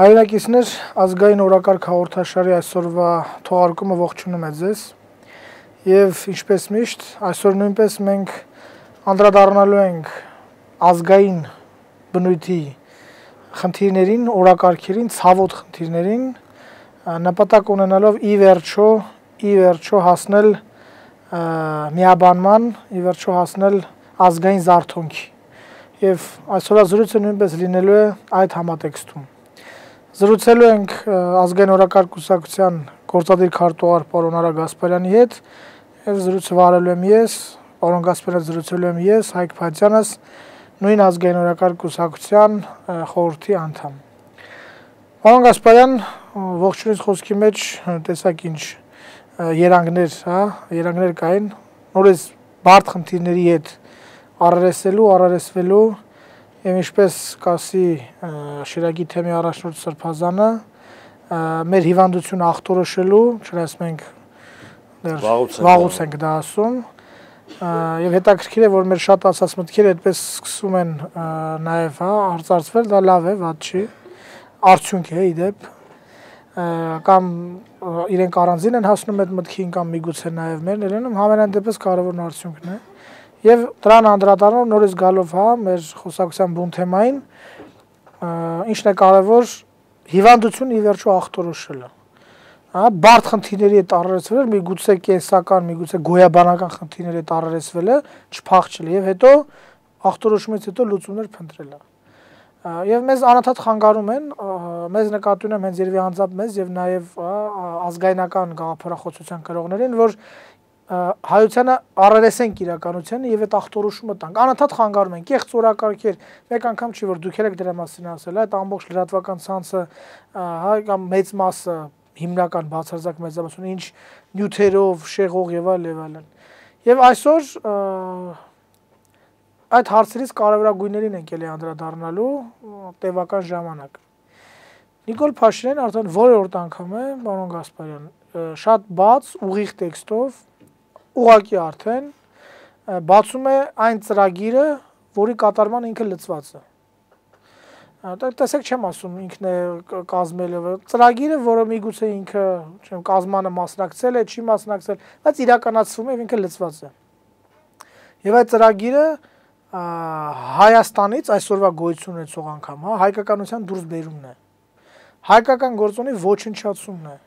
Հայրենակիցներ, ազգային օրակարգ հաղորդաշարի այսօրվա թողարկումը ողջունում է ձեզ եւ ինչպես միշտ այսօր նույնպես մենք անդրադառնալու ենք ազգային բնույթի խնդիրներին, օրակարգերին, ցավոտ խնդիրներին, նպատակ ունենալով ի վերջո հասնել միաբանման, ի վերջո հասնել ազգային զարթոնքի։ Եվ այսօրվա զրույցը նույնպես լինելու է այդ համատեքստում։ Զրուցելու ենք ազգային օրակարգ կուսակցության գործադիր քարտուղար պարոն Արա Գասպարյանի հետ եւ զրույցը վարելու եմ ես, պարոն Գասպարյանը զրուցելու եմ ես, Հայկ Փաթյանս, նույն ազգային օրակարգ կուսակցության խորհրդի անդամ։ Պարոն Գասպարյան, ողջունից խոսքի մեջ տեսակ ինչ երանգներ կային, նորից բարդ խնդիրների հետ առերեսվելու Եվ ինչպես կասի Շիրակի թեմի առաջնորդ Սրբազանը, մեր հիվանդությունը ախտորոշելու, չնայած մենք վաղուց ենք դա ասում, եւ հետաքրքիր է, որ մեր շատ ասած մտքերը այդպես սկսում են նաեւ արծարծվել, դա լավ է, վատ չի, արդյունք է իդեպ, կամ իրենք առանձին են հասնում այդ մտքին կամ միգուցե նաեւ մերն են լինում, համենայն դեպս կարևորն արդյունքն է։ Եվ դրան անդրադառնալով նորից գալով մեր խոսակցության բուն թեմային, ինչն է կարևոր հիվանդություն ի վերջո ախտորոշելը։ Բարդ խնդիրների հետ առերեսվելը, միգուցե կենսական, միգուցե գոյաբանական խնդիրների հետ առերեսվելը, չփախչելը եւ հետո ախտորոշումից հետո լուծումներ փնտրելը։ Եվ մեզ անընդհատ խանգարում են, մեզ նկատի ունեմ հենց երևի անձամբ մեզ եւ նաեւ ազգայնական գաղափարախոսության կրողներին, որ հայությանը առերեսենք իրականությանը եւ այդ ախտորոշումը տանք։ Անընդհատ խանգարում են կեղծ օրակարգեր, մեկ անգամ չի որ դուք եք դրա մասին ասել, այդ ամբողջ լրատվական ցանցը, կամ մեծ մասը հիմնական բացարձակ մեծամասնությունը ինչ նյութերով, շեղող եւ այլն։ Եվ այսօր այդ հարցերից կարևորագույններին ենք ելի անդրադառնալու տևական ժամանակ։ Նիկոլ Փաշինյանն արդեն որերորդ անգամ է, պարոն Գասպարյան, շատ բաց, ուղիղ տեքստով ուղղակի արդեն բացում է այն ծրագիրը, որի կատարման ինքը լծված է։ Տեսեք չեմ ասում ինքն է կազմել ծրագիրը, որը միգուցե ինքը, չեմ, կազմանը մասնակցել է, չի մասնակցել, բայց իրականացվում է եւ ինքը լծված է։ Եվ այդ ծրագիրը Հայաստանից այսօրվա գոյություն ունեցող անգամ, հայկականության դուրս բերումն է։ Հայկական գործոնի ոչնչացումն է։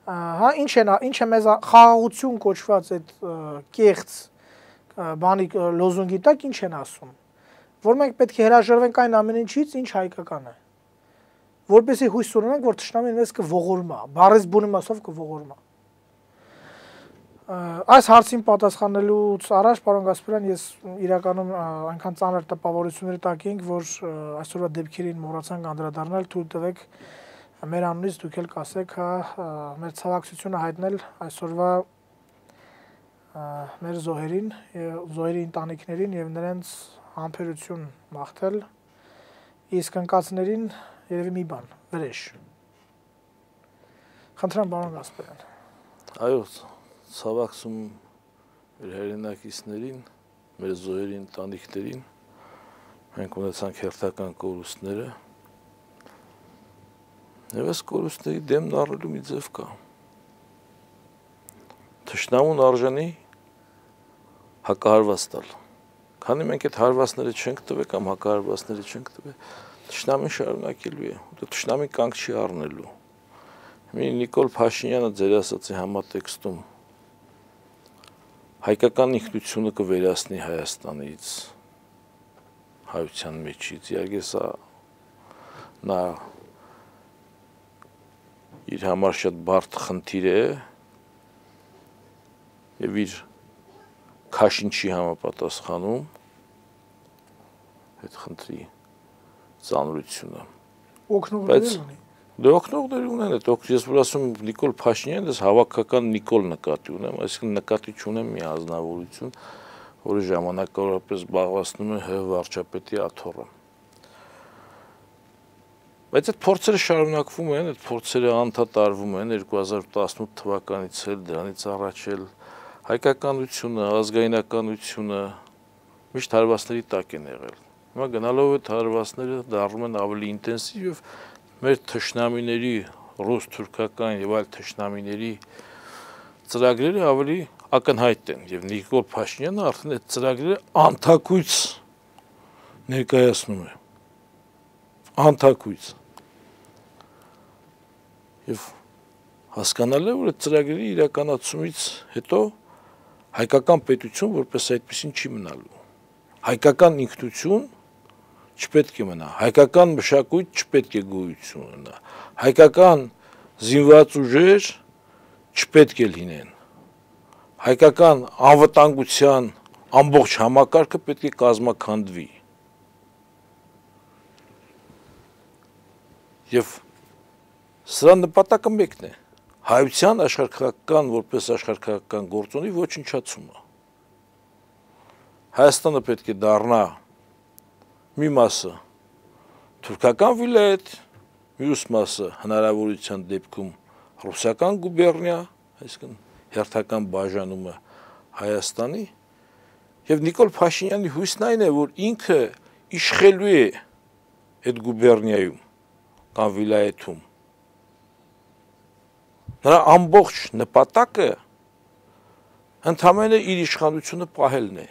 Ինչ է մեզ խաղաղություն կոչված այդ կեղծ բանի լոզունգի տակ ինչ են ասում, որ մենք պետք է հրաժարվենք այն ամեն ինչից, ինչ հայկական է, որպեսզի հույս ունենանք, որ թշնամին մեզ կողորմա, բառից բուն իմաստով կողորմա։ Այս հարցին պատասխանելուց առաջ, պարոն Գասպարյան, ես իրականում այնքան ծանր տպավորությունների տակ ենք, որ այսօրվա դեպքերին մոռացանք անդրադառնալ, թույլ տվեք մեր անունից դուք էլ կասեք, մեր ցավակցությունը հայտնել այսօրվա մեր զոհերին, զոհերի ընտանիքներին եւ նրանց համբերություն մաղթել, իսկ ընկածներին երևի մի բան, վրեժ։ Խնդրեմ, պարոն Գասպարյան։ Այո, ցավակցում մեր հայրենակիցներին, մեր զոհերի ընտանիքներին, մենք ունեցանք հերթական կորուստները։ Եվ այս կորուստների դեմն առնելու մի ձև կա։ Թշնամուն արժանի հակահարված տալ։ Քանի մենք այդ հարվածները չենք տվել կամ հակահարվածները չենք տվել, թշնամին շարունակելու է, թշնամին կանգ չի առնելու։ Նիկոլ Փաշինյանը ձեր ասածի համատեքստում հայկական ինքնությունը կվերացնի Հայաստանից, հայության մեջից, իհարկե սա նա իր համար շատ բարդ խնդիր է եւ իր քաշին չի համապատասխանում այդ խնդրի ծանրությունը։ Օգնողներ ունի։ Դե օգնողներ ունեն, ես որ ասում Նիկոլ Փաշինյանն, ես հավաքական Նիկոլ նկատի ունեմ, այսինքն նկատի չունեմ մի ազնվորություն, որը ժամանակավորապես զբաղեցնում է ՀՀ վարչապետի աթոռը։ Բայց այդ փորձերը շարունակվում են, այդ փորձերը անդադար արվում են 2018 թվականից էլ, դրանից առաջ էլ հայկականությունը, ազգայնականությունը միշտ հարվածների տակ են եղել։ Հիմա գնալով այդ հարվածները դառնում են ավելի ինտենսիվ եւ մեր թշնամիների ռուս-թուրքական եւ այլ թշնամիների ծրագրերը ավելի ակնհայտ են եւ Նիկոլ Փաշինյանը արդեն այդ ծրագրերը անթակույց ներկայացնում է անթակույց եւ հասկանալի է որ այդ ծրագրերի իրականացումից հետո հայկական պետություն որպես այդպեսին չի մնալու հայկական ինքնություն չպետք է մնա հայկական մշակույթ չպետք է գոյություն ունենա հայկական զինված ուժեր չպետք է լինեն հայկական անվտանգության ամբողջ համակարգը պետք է կազմաքանդվի եւ սրա նպատակը մեկն է հայության աշխարհական որպես աշխարհական գործոնի ոչնչացումը Հայաստանը պետք է դառնա մի մասը թուրքական վիլայետ, մյուս մասը հնարավորության դեպքում ռուսական գուբերնիա, այսինքն հերթական բաժանումը Հայաստանի եւ Նիկոլ Փաշինյանի հույսն այն է, որ ինքը իշխելու է այդ գուբերնիայում կամ վիլայեթում նրա ամբողջ նպատակը ընդհանրապես իր իշխանությունը պահելն է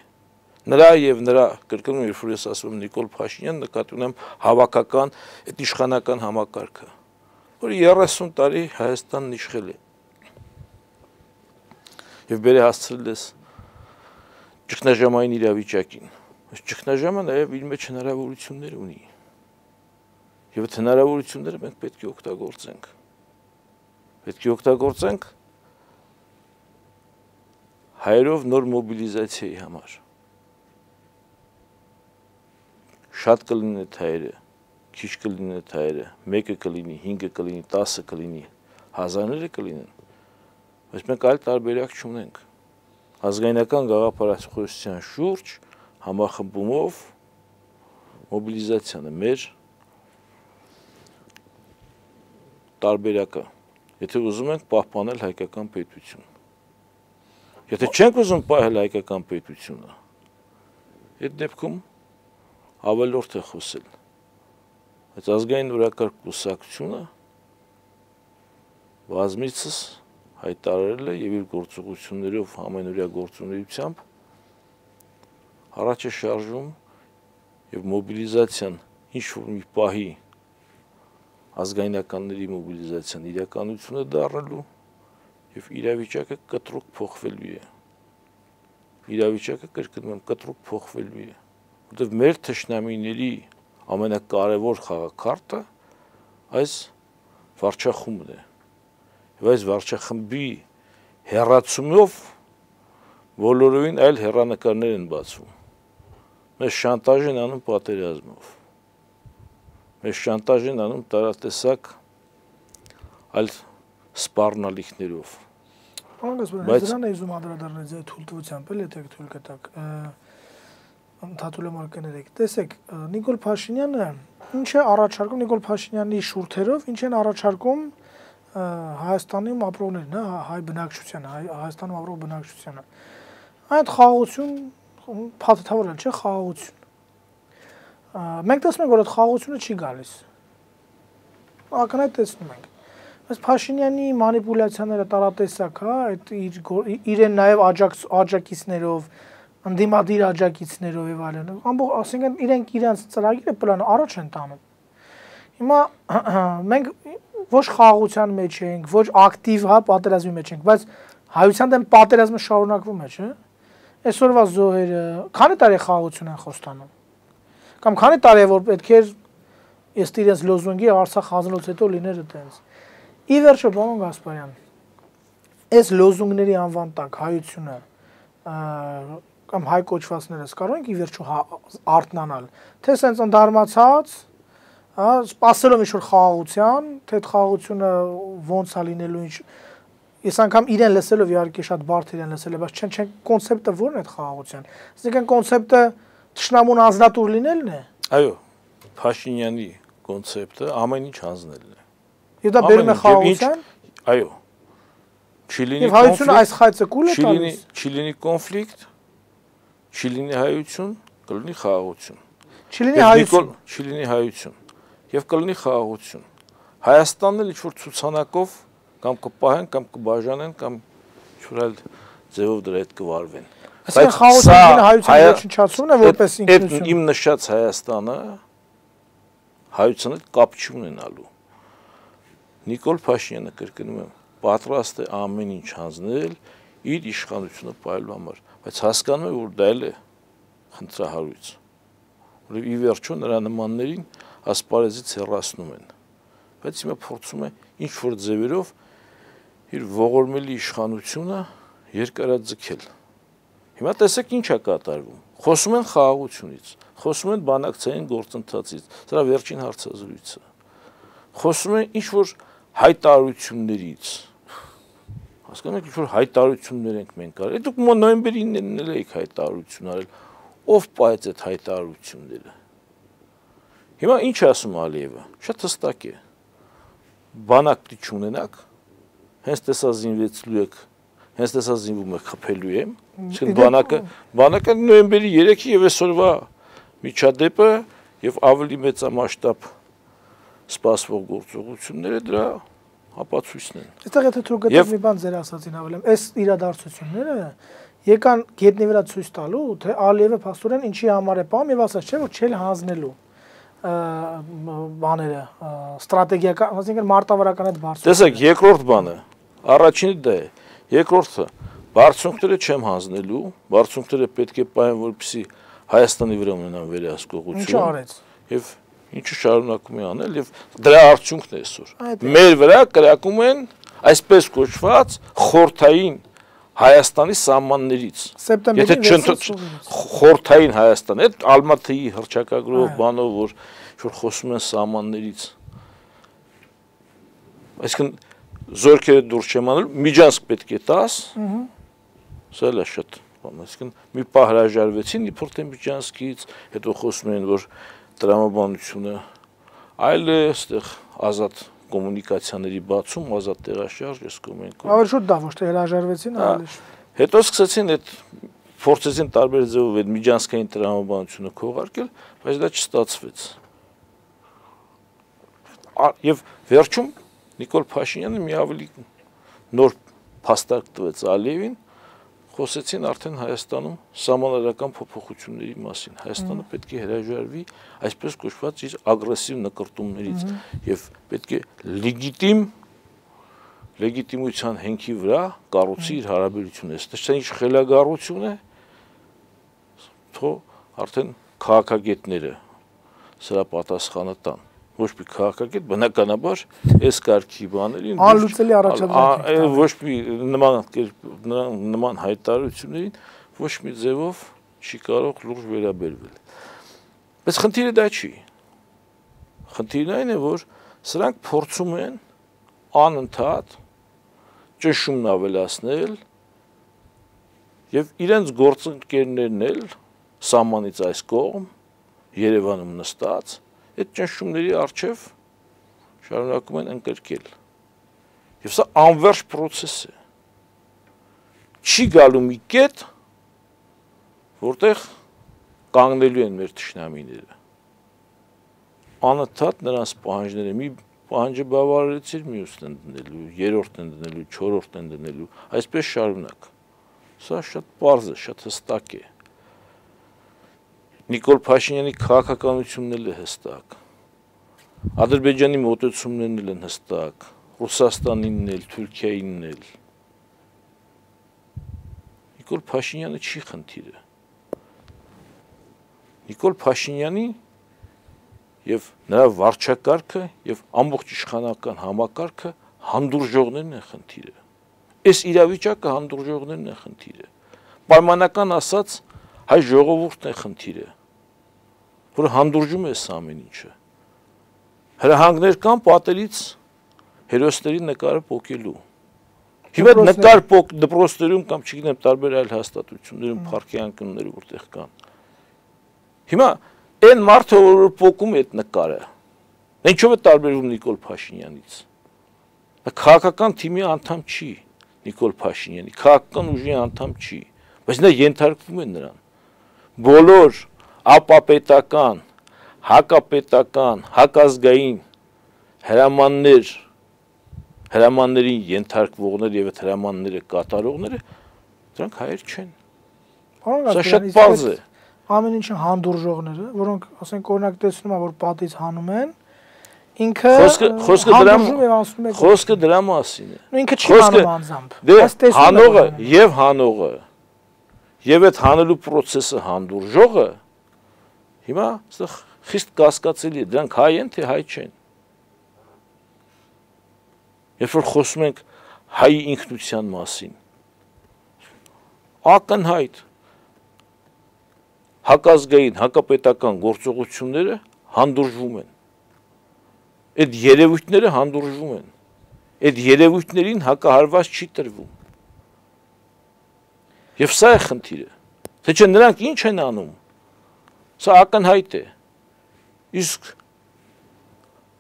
նրա եւ նրա կրկնում երբ որ ես ասում եմ Նիկոլ Փաշինյան նկատի ունեմ հավաքական այդ իշխանական համակարգը որը 30 տարի Հայաստանն իշխել է եւ բերե հասցրել է ճգնաժամային իրավիճակին այս ճգնաժամը նաեւ իր մեջ հնարավորություններ ունի եւ այդ հնարավորությունները մենք պետք է օգտագործենք հայերով նոր մոբիլիզացիայի համար շատ կլինի հայերը, քիչ կլինի հայերը, 1 կլինի, 5 կլինի, 10 կլինի, հազարները կլինեն, բայց մենք այլ տարբերակ չունենք։ Ազգայնական գաղափարախոսության շուրջ համախմբումով մոբիլիզացիան է մեր տարբերակը, եթե ուզում ենք պահպանել հայկական պետություն։ Եթե չենք ուզում պահել հայկական պետությունը, այդ դեպքում ավելորդ է խոսել, այդ ազգային օրակարգ կուսակցությունը բազմիցս հայտարարել է եւ իր գործողություններով ամենօրյա գործունեությամբ առաջ է շարժվում եւ մոբիլիզացիան ինչ-որ մի պահի ազգայնականների մոբիլիզացիան իրականություն է դառնալու եւ իրավիճակը կտրուկ փոխվելու է։ Իրավիճակը կրկնում եմ կտրուկ փոխվելու է, որտեղ մեր թշնամիների ամենակարևոր խաղակարտը այս վարչախումբն է։ Եվ այս վարչախմբի հեռացումով բոլորովին այլ հեռանկարներ են բացվում։ Մեզ շանտաժ են անում պատերազմով։ Մեզ շանտաժ են անում տարատեսակ այլ սպառնալիքներով։ Բայց դրան է ուզում անդրադառնալ ձեր թույլտվությամբ, էլ եթե թույլ կտակ։ Ընդհատուլ եմ արկաներեք։ Տեսեք, Նիկոլ Փաշինյանը ինչ է առաջարկում Նիկոլ Փաշինյանի շուրթերով, ինչ են առաջարկում Հայաստանում ապրողներին, հայ բնակչությանը, Հայաստանում ապրող բնակչությանը։ Այդ խաղաղություն փաթեթավորել չէ, խաղաղություն։ Մենք տեսնում ենք, որ այդ խաղաղությունը չի գալիս։ Ակնհայտ տեսնում ենք։ Բայց Փաշինյանի մանիպուլյացիաները տարատեսակ, հա, այդ իրեն նաև աջակիցներով, ընդդիմադիր աջակիցներով եւ այլն, ամբողջ, ասենք իրենք իրենց ծրագիրը պլանը առաջ են տանում։ Հիմա մենք ոչ խաղաղության մեջ ենք, ոչ ակտիվ, հա, պատերազմի մեջ ենք, բայց հայության դեմ պատերազմը շարունակվում է, չէ՞։ Այսօրվա զոհերը, քանի տարի խաղաղություն են խոստանում։ Կամ քանի տարի է որ պետք է ըստ իրենց լոզունգի Արցախ հանձնելուց հետո լիներ այդպես։ Ի վերջո, պարոն Գասպարյան, այս լոզունգների անվան տակ հայությունը կամ հայ կոչվածներս կարող ենք ի վերջո արթնանալ, թե սենց ընդհարմացած, սպասելով ինչ-որ խաղաղության, թե այդ խաղաղությունը ոնց է լինելու, ինչ ես անգամ իրեն լսելով իհարկե շատ բարդ իրեն լսել է, բայց չեն կոնցեպտը ո՞րն է այդ խաղաղության։ Այսինքն կոնցեպտը թշնամուն ազնատուր լինելն է։ Այո, Փաշինյանի կոնցեպտը ամեն ինչ հանձնելն է։ Եվ դա բերում է խաղաղության։ Այո։ Չիլինի կոնֆլիկտ։ Եվ հայությունը այս խայծը կուլ է տալիս։ Չիլինի կոնֆլիկտ, Չիլինի հայություն, կլինի խաղաղություն։ Չիլինի հայություն։ Չիլինի հայություն եւ կլինի խաղաղություն։ Հայաստանն էլ ինչ-որ ցուցանակով կամ կպահեն, կամ կբաժանեն, կամ ինչ-որ այլ ձևով դրա հետ կվարվեն։ Բայց խաղաղությունը հայության ոչնչացումն է որպես ինքնություն։ Իմ նշած Հայաստանը հայության հետ կապ չունենալու։ Նիկոլ Փաշինյանը կրկնում եմ, պատրաստ է ամեն ինչ հանձնել իր իշխանությունը պահելու համար, բայց հասկանում է, որ դա էլ է խնդրահարույց։ Որովհետև ի վերջո նրա նմաններին ասպարեզից հեռացնում են։ Բայց հիմա փորձում է ինչ-որ ձևերով իր ողորմելի իշխանությունը երկարաձգել։ Հիմա տեսեք ինչ է կատարվում։ Խոսում են խաղաղությունից, խոսում են բանակցային գործընթացից, սրա վերջին հարցազրույցը։ Խոսում են ինչ-որ հայտարարություններից։ Հասկանում եք, ինչ-որ հայտարարություններ ենք մենք արել։ Դուք նոյեմբերի 9-ին էլ եք հայտարարություն արել։ Ով պահեց այդ հայտարարությունները։ Հիմա ինչ ասում Ալիևը։ Շատ հստակ է։ Բանակ չունենաք, հենց տեսա զինվեցլու եք, հենց տեսա զինվում եք խփելու եմ, իսկ բանակը նոյեմբերի 3-ի եւ այսօրվա միջադեպը եւ ավելի մեծամասշտաբ սպասվող գործողությունները դրա ապացույցն են։ Այստեղ եթե թող գտավ մի բան ձեր ասածին հավելեմ, այս իրադարձությունները եկան գետնի վրա ցույց տալու, թե Ալիևը փաստորեն ինչի համար է պահում եւ ասած չէ, որ չել հանձնելու բաները, ստրատեգիական, այսինքն մարտավարական այդ բարձունքը։ Տեսեք, երկրորդ բանը, առաջինը դա է, երկրորդը բարձունքները չեմ հանձնելու, բարձունքները պետք է պահեն, որպեսզի Հայաստանի վրա ունենան վերահսկողություն։ Ինչ արեց։ Եվ ինչը շարունակում է անել եւ դրա արդյունքն է այսօր։ Մեր վրա կրակում են այսպես կոչված խորթային Հայաստանի սահմաններից։ Եթե խորթային Հայաստան, այդ Ալմատիի հռչակագրով բանով, որ խոսում են սահմաններից։ Այսինքն զորքերը դուրս չեմ անել, Միջանցք պետք է տաս։ Սա էլ է շատ բան, այսինքն մի պահ հրաժարվեցին իբրև թե Միջանցքից, հետո խոսում են, որ տրամաբանությունը այլ է, այստեղ ազատ կոմունիկացիաների բացում, ազատ տեղաշարժ, ես կոմենկում։ Ավելի շուտ դա ոչ թե հրաժարվեցին, ավելի շուտ։ Հետո սկսեցին այդ փորձեցին տարբեր ձևով այդ միջանցքային տրամաբանությունը քողարկել, բայց դա չստացվեց։ Եվ վերջում Նիկոլ Փաշինյանը մի ավելի նոր փաստարկ տվեց Ալիևին, խոսեցին արդեն Հայաստանում սահմանադրական փոփոխությունների մասին։ Հայաստանը պետք է հրաժարվի այսպես կոչված իր ագրեսիվ նկրտումներից եւ պետք է լեգիտիմության հենքի վրա կառուցի իր հարաբերությունը։ Այստեղ ինչ խելագարություն է, թող արդեն քաղաքագետները սրա պատասխանը տան։ Ոչ մի քաղաքագետ բնականաբար այս կարգի բաներին անլուծելի առաջադրանք ոչ մի նման հայտարարություններին ոչ մի ձևով չի կարող լուրջ վերաբերվել։ Բայց խնդիրը դա չի։ Խնդիրն այն է, որ սրանք փորձում են անընդհատ ճնշումն ավելացնել եւ իրենց գործընկերներն էլ սահմանից այս կողմ Երևանում նստած այդ ճնշումների առջև շարունակում են ընկրկել։ Եվ սա անվերջ process է։ Չի գալու մի կետ, որտեղ կանգնելու են մեր թշնամիները։ Անընդհատ նրանց պահանջները մի պահանջը բավարարեցիր, մյուսն են դնելու, երրորդն են դնելու, չորրորդն են դնելու, այսպես շարունակ։ Սա շատ պարզ է, շատ հստակ է։ Նիկոլ Փաշինյանի քաղաքականությունն էլ է հստակ։ Ադրբեջանի մոտեցումներն են հստակ, Ռուսաստանինն էլ, Թուրքիայինն էլ։ Նիկոլ Փաշինյանը չի խնդիրը։ Նիկոլ Փաշինյանի եւ նրա վարչակարգը եւ ամբողջ իշխանական համակարգը հանդուրժողներն են խնդիրը։ Այս իրավիճակը հանդուրժողներն են խնդիրը։ Պայմանական ասած հայ ժողովուրդն է խնդիրը, որը հանդուրժում է այս ամեն ինչը։ Հրահանգներ կան պատերից հերոսների նկարը պոկելու։ Հիմա նկար դպրոցներում կամ չգիտեմ տարբեր այլ հաստատություններում փառքի անկյունները որտեղ կան։ Հիմա այն մարդը, որ պոկում է այդ նկարը, ինչով է տարբերվում Նիկոլ Փաշինյանից։ Քաղաքական թիմի անդամ չի Նիկոլ Փաշինյանի, քաղաքական ուժի անդամ չի, բայց նա ենթարկվում է նրան։ Բոլոր ապապետական, հակապետական, հակազգային հրամաններին ենթարկվողներ եւ այդ հրամանները կատարողները դրանք հայեր չեն։ Սա շատ բարձ է։ Ամեն ինչը հանդուրժողները, որոնք ասենք օրինակ տեսնում են, որ պատից հանում են, ինքը խոսքը դրա մասին է։ Ու ինքը չի հանում անձամբ։ Դե հանողը եւ հանողը եւ այդ հանելու process-ը հանդուրժողը հիմա այստեղ խիստ կասկածելի է, դրանք հայ են թե հայ չեն։ Երբ որ խոսում ենք հայի ինքնության մասին, ակնհայտ հակազգային, հակապետական գործողությունները հանդուրժվում են։ Այդ երևույթները հանդուրժվում են։ Այդ երևույթներին հակահարված չի տրվում։ Եվ սա է խնդիրը։ Թե չէ նրանք ինչ են անում։ Սա ակնհայտ է։ Իսկ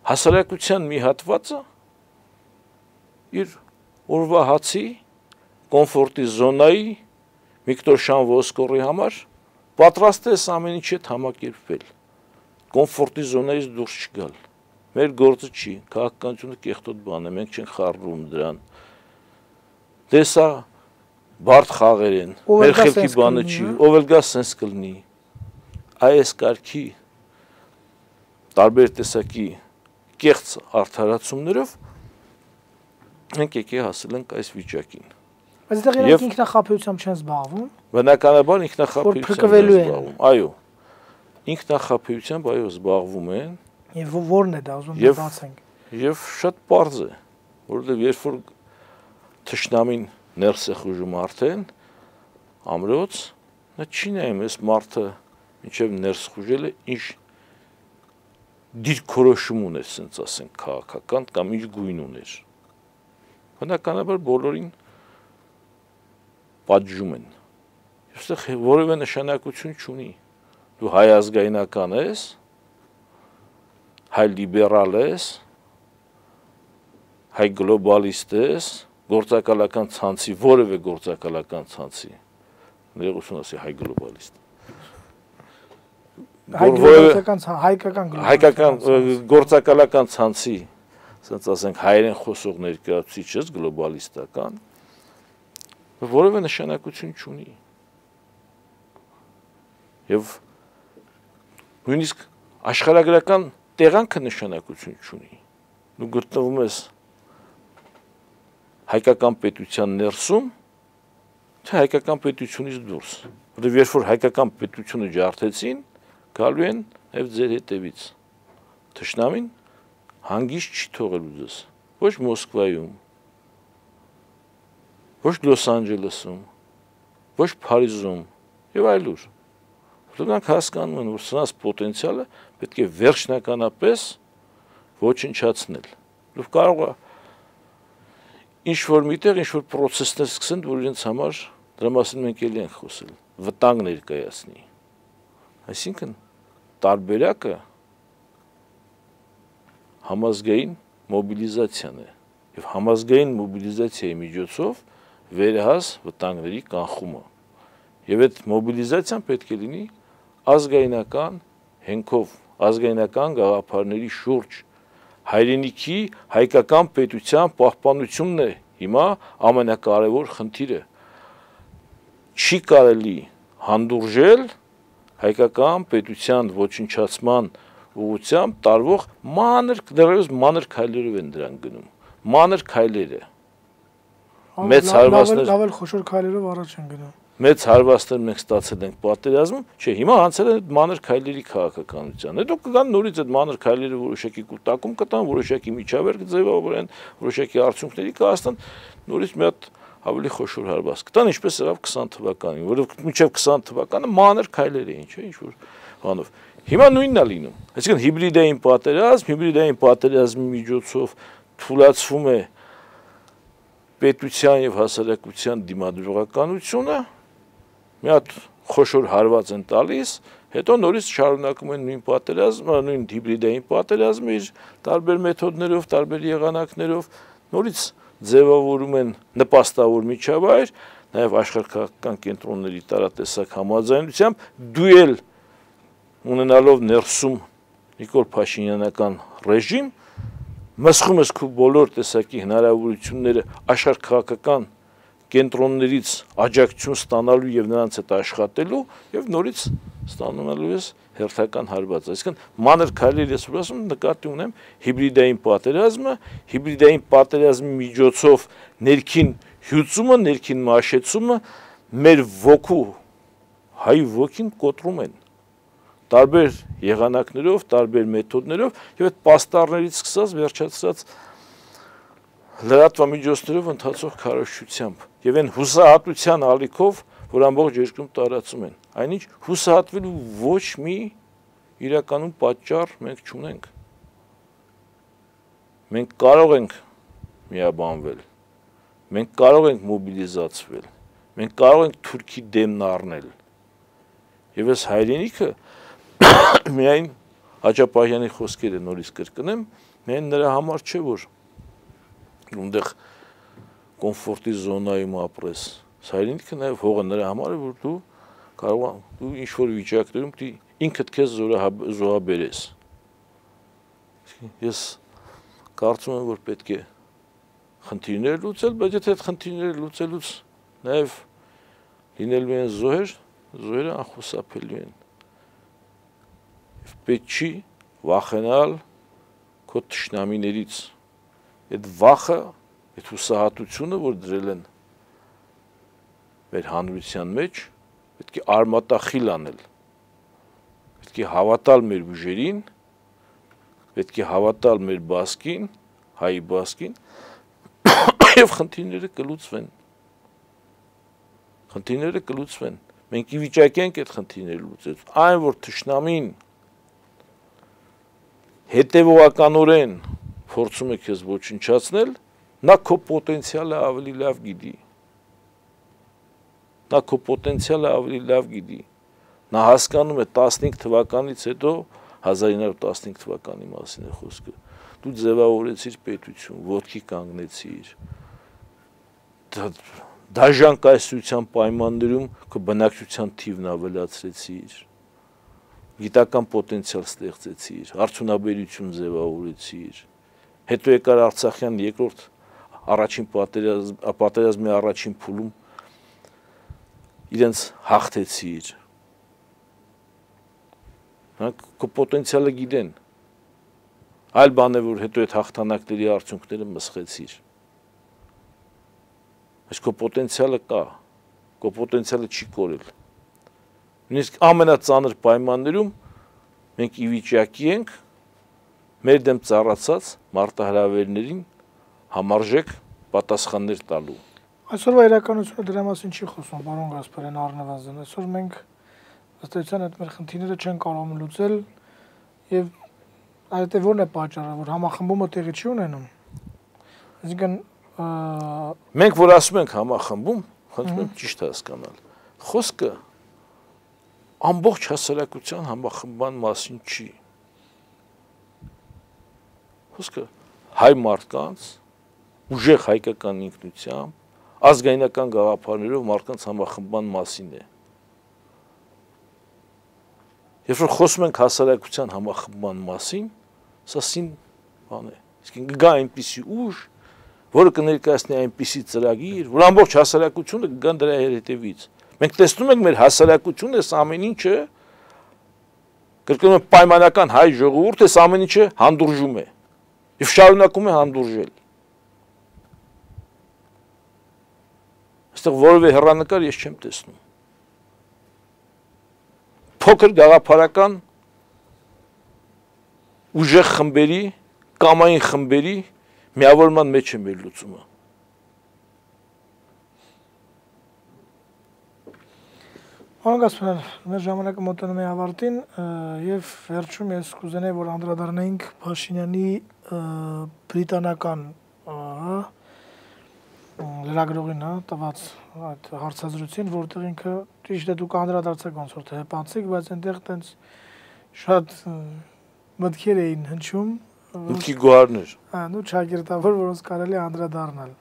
հասարակության մի հատվածը իր օրվա հացի, կոմֆորտի զոնայի, Վիկտոր Շան Ոսկորի համար պատրաստ է ամեն ինչի հետ համակերպվել, կոմֆորտի զոնայից դուրս չգալ։ Մեր գործը չի, քաղաքականությունը կեղտոտ բան է, մենք չենք խառնում դրան։ Դե սա բարդ խաղեր են, մեր խելքի բանը չի, ով էլ գա սենց կլինի։ Այս կարգի տարբեր տեսակի կեղծ արդարացումներով մենք եկե հասել ենք այս վիճակին։ Բայց դեռ իրենք ինքնախապեյությամբ չեն զբաղվում։ Բնականաբար ինքնախապեյությամբ են զբաղվում։ Այո։ Ինքնախապեյությամբ այո զբաղվում են։ Եվ ո՞րն է դա, ուզում եմ բացենք։ Եվ շատ պարզ է, որովհետև երբ որ թշնամին ներս է խուժում արդեն, ամրոց, նա չի նայում այս մարդը մինչև ներս խուժել է, ինչ դիրքորոշում ուներ, ասենք ասենք քաղաքական կամ ինչ գույն ուներ։ Բնականաբար բոլորին պատժում են։ Այստեղ որևէ նշանակություն չունի։ Դու հայ ազգայնական ես, հայ լիբերալ ես, հայ գլոբալիստ ես, գործակալական ցանցի, որևէ գործակալական ցանցի, ներողություն ասի հայ գլոբալիստ։ Հայկական գործակալական ցանցի, ասենք ասենք հայերեն խոսող ներկայացուցիչ ես գլոբալիստական, որևէ նշանակություն չունի։ Եվ նույնիսկ աշխարհագրական տեղանքը նշանակություն չունի։ Դու գտնվում ես հայկական պետության ներսում, թե հայկական պետությունից դուրս։ Որտեղ երբ որ հայկական պետությունը ջարդեցին, գալու են եւ ձեր հետևից։ Թշնամին հանգիստ չի թողելու ձեզ։ Ոչ Մոսկվայում, ոչ Լոս Անջելեսում, ոչ Փարիզում եւ այլուր։ Որոնք հասկանում են, որ սրանց պոտենցիալը պետք է վերջնականապես ոչնչացնել։ Դու կարող ես ինչ-որ միտեղ, ինչ-որ պրոցեսներ սկսեն, որ իրենց համար դրա մասին մենք էլի ենք խոսել, վտանգ ներկայացնի։ Այսինքն տարբերակը համազգային մոբիլիզացիան է եւ համազգային մոբիլիզացիայի միջոցով վերահաս վտանգների կանխումը։ Եվ այդ մոբիլիզացիան պետք է լինի ազգայնական հենքով, ազգայնական գաղափարների շուրջ, հայրենիքի հայկական պետության պահպանությունն է հիմա ամենակարևոր խնդիրը։ Չի կարելի հանդուրժել հայկական պետության ոչնչացման ուղղությամբ տարվող դեռևս մանր քայլերով են դրան գնում։ Մանր քայլերը։ Մեծ հարվածներ, լավ խոշոր քայլերով առաջ են գնում։ Մեծ հարվածներ մենք ստացել ենք պատերազմում, չէ, հիմա անցել են մանր քայլերի քաղաքականության։ Հետո կգան նորից այդ մանր քայլերը որոշակի կուտակում կտան, որոշակի միջավայր կձևավորեն, որոշակի արդյունքների կհասնեն, նորից մի հատ ավելի խոշոր հարված կտան, ինչպես եղավ 20 թվականին, որովհետև մինչև 20 թվականը մանր քայլեր էին, չէ, ինչ որ բանով։ Հիմա նույնն է լինում։ Այսինքն հիբրիդային պատերազմի միջոցով թուլացվում է պետության եւ հասարակության դիմադրողականությունը, մի հատ խոշոր հարված են տալիս, հետո նորից շարունակում են նույն պատերազմը, նույն հիբրիդային պատերազմը իր տարբեր մեթոդներով, տարբեր եղանակներով, նորից ձևավորում են նպաստավոր միջավայր, նաեւ աշխարհական կենտրոնների տարատեսակ համաձայնությամբ դուել ունենալով ներսում Նիկոլ Փաշինյանական ռեժիմ, մսխում ես քո բոլոր տեսակի հնարավորությունները աշխարհ քաղաքական կենտրոններից աջակցություն ստանալու եւ նրանց հետ աշխատելու եւ նորից ստանալու ես հերթական հարված։ Այսինքն մանր քայլեր ես ասում նկատի ունեմ հիբրիդային պատերազմի միջոցով ներքին հյուծումը, ներքին մաշեցումը մեր ոգու հայ ոգին կոտրում են տարբեր եղանակներով, տարբեր մեթոդներով եւ այդ պաստառներից սկսած վերջացած լրատվամիջոցներով ընթացող քարոզչությամբ եւ այն հուսահատության ալիքով, որ ամբողջ երկրում տարածում են։ Այնինչ հուսահատվելու ոչ մի իրականում պատճառ մենք չունենք։ Մենք կարող ենք միաբանվել, մենք կարող ենք մոբիլիզացվել, մենք կարող ենք Թուրքի դեմն առնել։ Եվ այս հայրենիքը միայն Հաճապահյանի խոսքերը նորից կրկնեմ, միայն նրա համար չէ, որ ունդեղ կոմֆորտի զոնայում ապրես։ Հայրենիքը նաև հողը նրա համար է, որ դու կարող դու ինչ-որ վիճակներում ինքդ քեզ զոհաբերես։ Ես կարծում եմ, որ պետք է խնդիրներ լուծել, բայց եթե այդ խնդիրները լուծելուց նաև լինելու են զոհերը անխուսափելի են։ Պետք չի վախենալ քո թշնամիներից։ Այդ վախը, այդ հուսահատությունը, որ դրել են մեր հանրության մեջ, պետք է արմատախիլ անել։ Պետք է հավատալ մեր ուժերին, պետք է հավատալ մեր բասկին, հայի բասկին, եւ խնդիրները կլուծվեն։ Խնդիրները կլուծվեն։ Մենք ի վիճակի ենք այդ խնդիրները լուծել։ Այն, որ թշնամին հետևողականորեն փորձում է քեզ ոչնչացնել, նա քո պոտենցիալը ավելի լավ գիտի։ Նա հասկանում է 15 թվականից հետո 1915 թվականի մասին է խոսքը։ Դու ձևավորեցիր պետություն, ոտքի կանգնեցիր։ Դաժան կայսրության պայմաններում քո բնակչության թիվն ավելացրեցիր։ Գիտական պոտենցիալ ստեղծեցիր, արդյունաբերություն ձևավորեցիր, հետո եկար Արցախյան երկրորդ պատերազմի առաջին փուլում իրենց հաղթեցիր։ Նրանք քո պոտենցիալը գիտեն, այլ բան է, որ հետո այդ հաղթանակների արդյունքները մսխեցիր։ Բայց քո պոտենցիալը կա, քո պոտենցիալը չի կորել։ Նույնիսկ ամենածանր պայմաններում մենք ի վիճակի ենք մեր դեմ ծառացած մարտահրավերներին համարժեք պատասխաններ տալու։ Այսօրվա իրականությունը դրա մասին չի խոսում, պարոն Գասպարյան, առնվազն։ Այսօր մենք ըստ էության այդ մեր խնդիրները չեն կարող լուծել եւ այդ որն է պատճառը, որ համախմբումը տեղի չի ունենում։ Այսինքն մենք որ ասում ենք համախմբում, խնդրում եմ ճիշտ հասկանալ։ Խոսքը ամբողջ հասարակության համախմբման մասին չի։ Խոսքը հայ մարդկանց ուժեղ հայկական ինքնությամբ, ազգայնական գաղափարներով մարդկանց համախմբման մասին է։ Երբ որ խոսում ենք հասարակության համախմբման մասին, սա սին բան է։ Իսկ գա այնպիսի ուժ, որը կներկայացնի այնպիսի ծրագիր, որ ամբողջ հասարակությունը կգան դրա հետևից։ Մենք տեսնում ենք մեր հասարակությունը այս ամեն ինչը կրկնում եմ պայմանական հայ ժողովուրդը այս ամեն ինչը հանդուրժում է եւ շարունակում է հանդուրժել։ Այստեղ որևէ հեռանկար ես չեմ տեսնում։ Փոքր գաղափարական ուժեղ խմբերի, կամային խմբերի միավորման մեջ է մեր լուծումը։ Պարոն Գասպարյան, մեր ժամանակը մոտենում է ավարտին եւ վերջում ես կուզենայի, որ անդրադառնայինք Փաշինյանի բրիտանական լրագրողին տված այդ հարցազրույցին, որտեղ ինքը ճիշտ է դուք անդրադարձեք ոնց որ թե հպանցիկ, բայց այնտեղ տենց շատ մտքեր էին հնչում, մտքի գոհարներ։ Նու ճակերտավոր, որոնց կարելի է անդրադառնալ։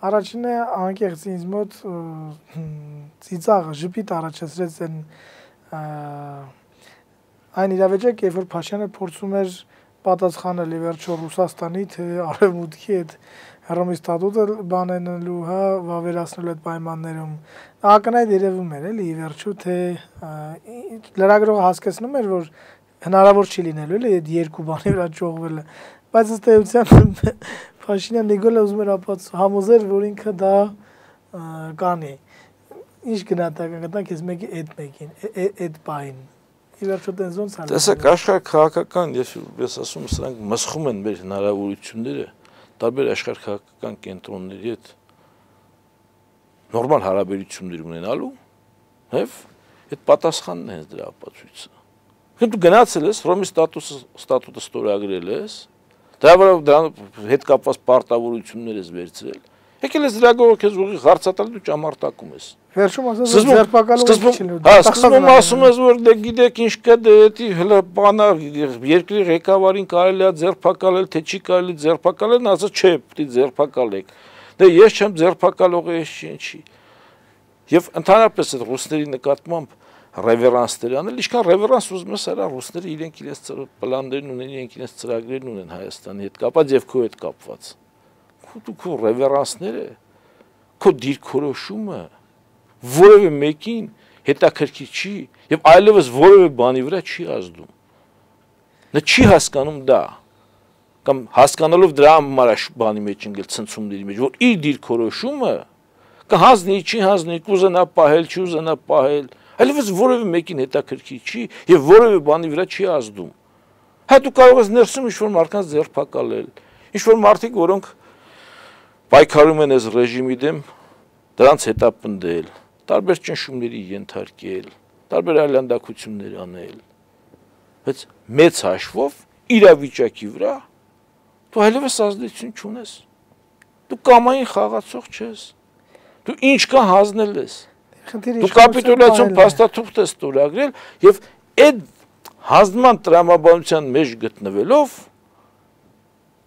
Առաջինը անկեղծ ինձ մոտ ծիծաղը ժպիտ առաջացրեց այն իրավիճակը, երբ որ Փաշինյանը փորձում էր պատասխանել ի վերջո Ռուսաստանի թե Արևմուտքի այդ Հռոմի ստատուտը բանենելու, հա, վավերացնելու այդ պայմաններում ակնհայտ երևում էր էլի ի վերջո թե լրագրողը հասկացնում էր որ հնարավոր չի լինելու էլի այդ երկու բանի վրա ճողվելը բայց ըստ էության Փաշինյան Նիկոլը ուզում էր համոզել որ ինքը դա կանի ինչ գնահատական կտանք ես մեկի այդ բային ի վերջո տենց ոնց ալու տեսեք աշխարհ քաղաքական ես ասում սրանք մսխում են մեր հնարավորությունները տարբեր աշխարհ քաղաքական կենտրոնների հետ նորմալ հարաբերություններ ունենալու եւ այդ պատասխանն է հենց դրա ապացույցը դու գնացել ես Հռոմի ստատուտը ստորագրել ես դրա վրա հետ կապված պարտավորություններ ես վերցրել եկել ես լրագրողը քեզ ուղիղ հարցատալ դու ճամարտակում ես վերջում ասես ձերբակալում չլինի հա սկզբում ասում ես որ դե գիտեք ինչ կա դե հələ բանա երկրի ղեկավարին կարելի է ձերբակալել թե չի կարելի ձերբակալել ասած չէ պիտի ձերբակալեք դե ես չեմ ձերբակալողը ես չի եւ ընդհանրապես այդ ռուսների նկատմամբ ռևերանսներ անել, ինչքան ռևերանս ուզում ես արա ռուսները իրենք իրենց պլաններն ունեն, իրենք իրենց ծրագրերն ունեն Հայաստանի հետ կապված եւ քո հետ կապված։ Քո ռևերանսները, քո դիրքորոշումը որևէ մեկին հետաքրքիր չի եւ այլևս որևէ բանի վրա չի ազդում։ Նա չի հասկանում դա կամ հասկանալով դրա համար բանի մեջ ընկել ցնցումների մեջ, որ իր դիրքորոշումը կհանձնի, չի հանձնի, կուզենա պահել, չի ուզենա պահել այլևս որևէ մեկին հետաքրքիր չի եւ որևէ բանի վրա չի ազդում։ Հա դու կարող ես ներսում ինչ-որ մարդկանց ձերբակալել, ինչ-որ մարդիկ, որոնք պայքարում են այս ռեժիմի դեմ, դրանց հետապնդել, տարբեր ճնշումների ենթարկել, տարբեր այլանդակություններ անել։ Բայց մեծ հաշվով իրավիճակի վրա դու այլևս ազդեցություն չունես։ Դու կամային խաղացող չես։ Դու ինչ կա հանձնել ես։ Դու կապիտուլյացիոն փաստաթուղթ ես ստորագրել եւ այդ հանձնման տրամաբանության մեջ գտնվելով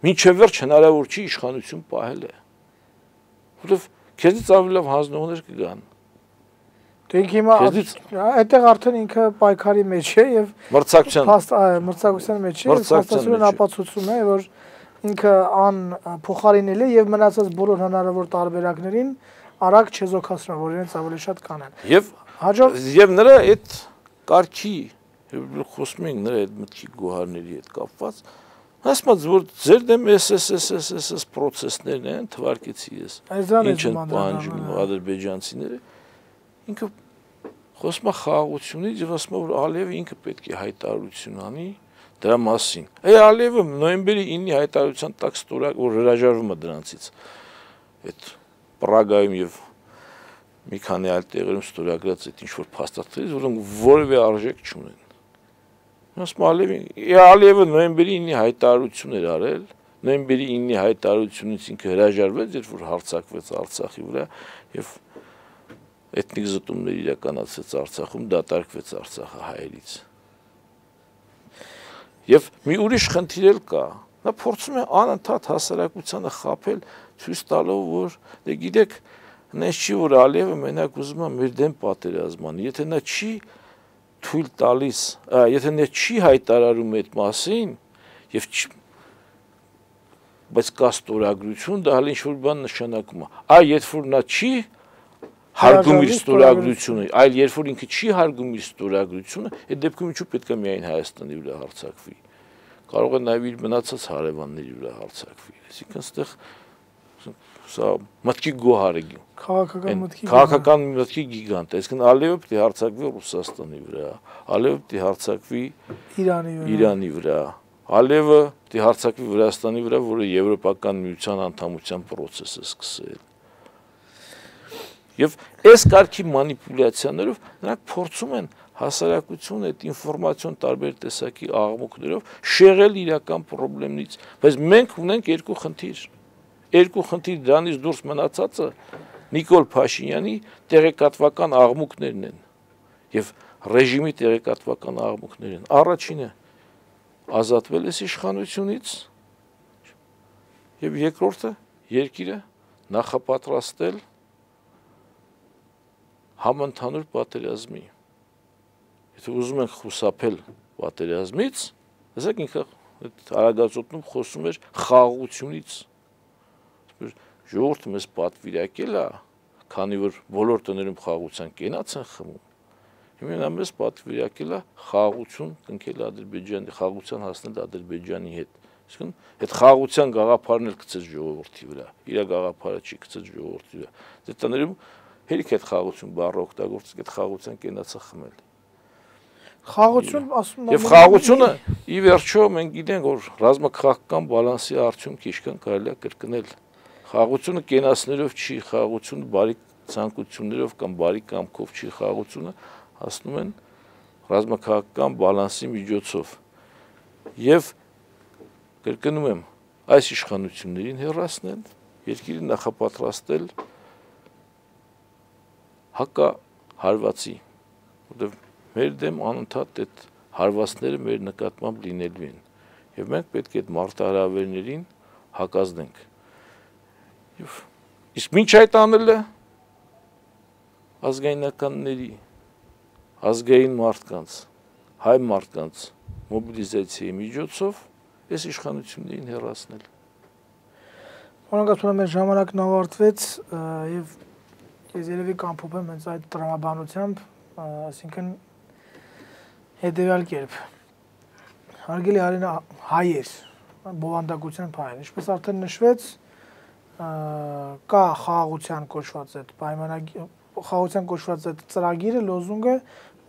մինչև վերջ հնարավոր չի իշխանություն պահելը։ Որովհետեւ քեզից ավելի լավ հանձնողներ կգան։ Դու հիմա այդտեղ արդեն ինքը պայքարի մեջ է եւ մրցակցության մեջ է, փաստացիորեն ապացուցում է որ ինքը փոխարինել է եւ մնացած բոլոր հնարավոր տարբերակներին արագ չեզոքացնում, որ իրենց ավելի շատ կանեն։ Եվ նրա այդ կարգի, խոսում ենք նրա այդ մտքի գոհարների հետ կապված, ասած որ ձեր դեմ SSSS պրոցեսներն են, թվարկեցի ես։ Ինչ են պահանջում ադրբեջանցիները։ Ինքը խոսում է խաղաղությունից եւ ասում է որ Ալիևը ինքը պետք է հայտարարություն անի դրա մասին։ Ալիևը նոյեմբերի 9-ի հայտարարության տակ ստորագրել որ հրաժարվում է դրանցից։ Այդ Պրագայում եւ մի քանի այլ տեղերում ստորագրած այդ ինչ-որ փաստաթղթերից, որոնք որևէ արժեք չունեն։ Ասում Ալիևը նոյեմբերի 9-ի հայտարարություն էր արել, նոյեմբերի 9-ի հայտարարությունից ինքը հրաժարվեց, երբ որ հարձակվեց Արցախի վրա եւ էթնիկ զտումներ իրականացրեց Արցախում, դատարկվեց Արցախը հայերից։ Եվ մի ուրիշ խնդիր էլ կա։ Նա փորձում է անընդհատ հասարակությանը խաբել ցույց տալով որ դե գիտեք նես չի որ Ալիևը մենակ ուզում է մեր դեմ պատերազման եթե նա չի թույլ տալիս եթե նա չի հայտարարում այդ մասին եւ բայց կա ստորագրություն դա հələ ինչ որ բան նշանակում է երբ որ նա չի հարգում իր ստորագրությունը այլ երբ որ ինքը չի հարգում իր ստորագրությունը այդ դեպքում ինչու պետք է միայն Հայաստանի վրա հարձակվի կարող է նաեւ իր մնացած հարևանների վրա հարձակվի այսինքն այստեղ սա մտքի գոհար է քաղաքական մտքի գիգանտ այսինքն Ալիևը պետք է հարձակվի Ռուսաստանի վրա Ալիևը պետք է հարձակվի Իրանի վրա Ալիևը պետք է հարձակվի Վրաստանի վրա որը եվրոպական միության անդամության process է սկսել եւ այս կարգի մանիպուլյացիաներով նրանք փորձում են հասարակությունը այդ ինֆորմացիոն տարբեր տեսակի աղմուկներով շեղել իրական խնդիրներից բայց մենք ունենք երկու խնդիր դրանից դուրս մնացածը Նիկոլ Փաշինյանի տեղեկատվական աղմուկներն են եւ ռեժիմի տեղեկատվական աղմուկներն են առաջինը ազատվել է իշխանությունից եւ երկրորդը երկիրը նախապատրաստել համընդհանուր պատերազմի Եթե ուզում ենք խուսափել պատերազմից, ասեք ինքը Այդ արագածոտնում խոսում էր խաղաղությունից։ Ժողովուրդը մեզ պատվիրակել է, քանի որ բոլոր տներում խաղաղության կենաց են խմում։ Հիմա մեզ պատվիրակել է խաղաղություն կնքել Ադրբեջանի, խաղաղության հասնել Ադրբեջանի հետ։ Իսկն այդ խաղաղության գաղափարն էլ գցեց ժողովրդի վրա, իր գաղափարը չի գցեց ժողովրդի վրա։ Դե տներում հերիք այդ խաղաղություն բառը օգտագործել, այդ խաղաղության կենացը խմել։ Խաղաղություն ասում եմ։ Եվ խաղաղությունը ի վերջո մենք գիտենք, որ ռազմաքաղաքական բալանսի արդյունք ինչքան կարելի է կրկնել։ Խաղաղությունը կենացներով չի, խաղաղությունը բարի ցանկություններով կամ բարի կամքով չի, խաղաղությունը հասնում են ռազմաքաղաքական բալանսի միջոցով։ Եվ կրկնում եմ, այս իշխանություններին հեռացնել, երկիրը նախապատրաստել հակահարվածի, որտեղ մեր դեմ անընդհատ այդ հարվածները մեր նկատմամբ լինելու են, եւ մենք պետք է այդ մարտահրավերներին հակազդենք։ Իսկ ինչ այդ անելը ազգայնականների, ազգային մարդկանց, հայ մարդկանց մոբիլիզացիայի միջոցով այս իշխանություններին հեռացնել։ Օրինակ մեր ժամանակն ավարտվեց եւ ես երևի կամփոփեմ հենց այդ տրամաբանությամբ, այսինքն հետեւյալ կերպ։ Հարգելի Արենա, հայեր, բովանդակության հայեր, ինչպես արդեն նշվեց, կա խաղաղության կոչված այդ պայմանագիր, խաղաղության կոչված այդ ծրագիրը, լոզունգը,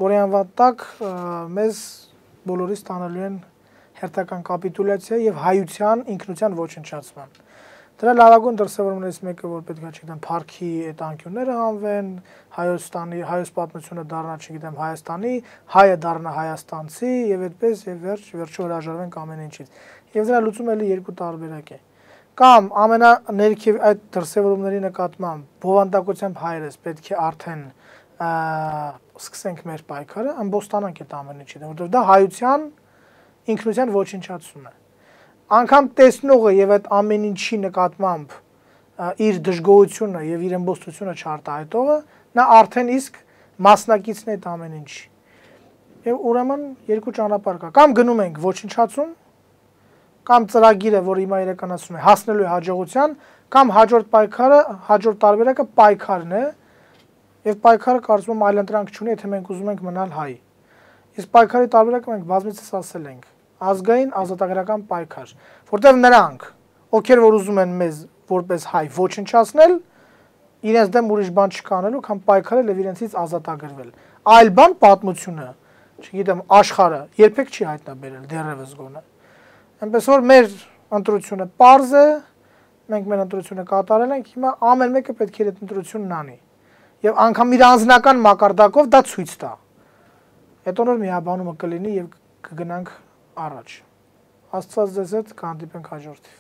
որի անվան տակ մեզ բոլորիս տանելու են հերթական կապիտուլյացիա եւ հայության ինքնության ոչնչացման։ Դրա լավագույն դրսևորումներից մեկը, որ պետք է, չգիտեմ, Փարքի այդ անկյունները հանվեն, հայոց պատմությունը դառնա, չգիտեմ, Հայաստանի, հայը դառնա հայաստանցի եւ այդպես եւ վերջո հրաժարվենք ամեն ինչից։ Եվ դրա լուծումը էլի երկու տարբերակ է։ Կամ ամենաներքև այդ դրսևորումների նկատմամբ բովանդակությամբ հայերս պետք է արդեն սկսենք մեր պայքարը, ամբոստանանք այդ ամեն ինչից, որովհետեւ դա հայության ինքնության ոչնչացում է։ Անկամ տեսնողը եւ այդ ամեն ինչի նկատմամբ իր դժգոհությունը եւ իր ըմբոստությունը չարտահայտողը, նա արդեն իսկ մասնակիցն է այդ ամեն ինչի։ Եվ ուրեմն երկու ճանապարհ կա։ Կամ գնում ենք ոչնչացում, կամ ծրագիրը, որ հիմա իրականացնում է, հասնելու է հաջողության, կամ հաջորդ պայքարը, հաջորդ տարբերակը պայքարն է, եւ պայքարը կարծում եմ այլընտրանք չունի, եթե մենք ուզում ենք մնալ հայ։ Իսկ պայքարի տարբերակը մենք բազմիցս ասել ենք, ազգային ազատագրական պայքար, որտեղ նրանք, ովքեր որ ուզում են մեզ որպես հայ ոչնչացնել, իրենց դեմ ուրիշ բան չկանելու, քան պայքարել եւ իրենցից ազատագրվել։ Այլ բան պատմությունը, չգիտեմ, աշխարհը երբեք չի հայտնաբերել դեռևս գոնե։ Այնպես որ մեր ընտրությունը պարզ է, մենք մեր ընտրությունը կատարել ենք, հիմա ամեն մեկը պետք է այդ ընտրությունն անի։ Եվ անգամ իր անձնական մակարդակով դա ցույց տա։ Հետո նոր միաբանումը կլինի եւ կգնանք առաջ։ Աստված ձեզ հետ կհանդիպենք հաջորդիվ։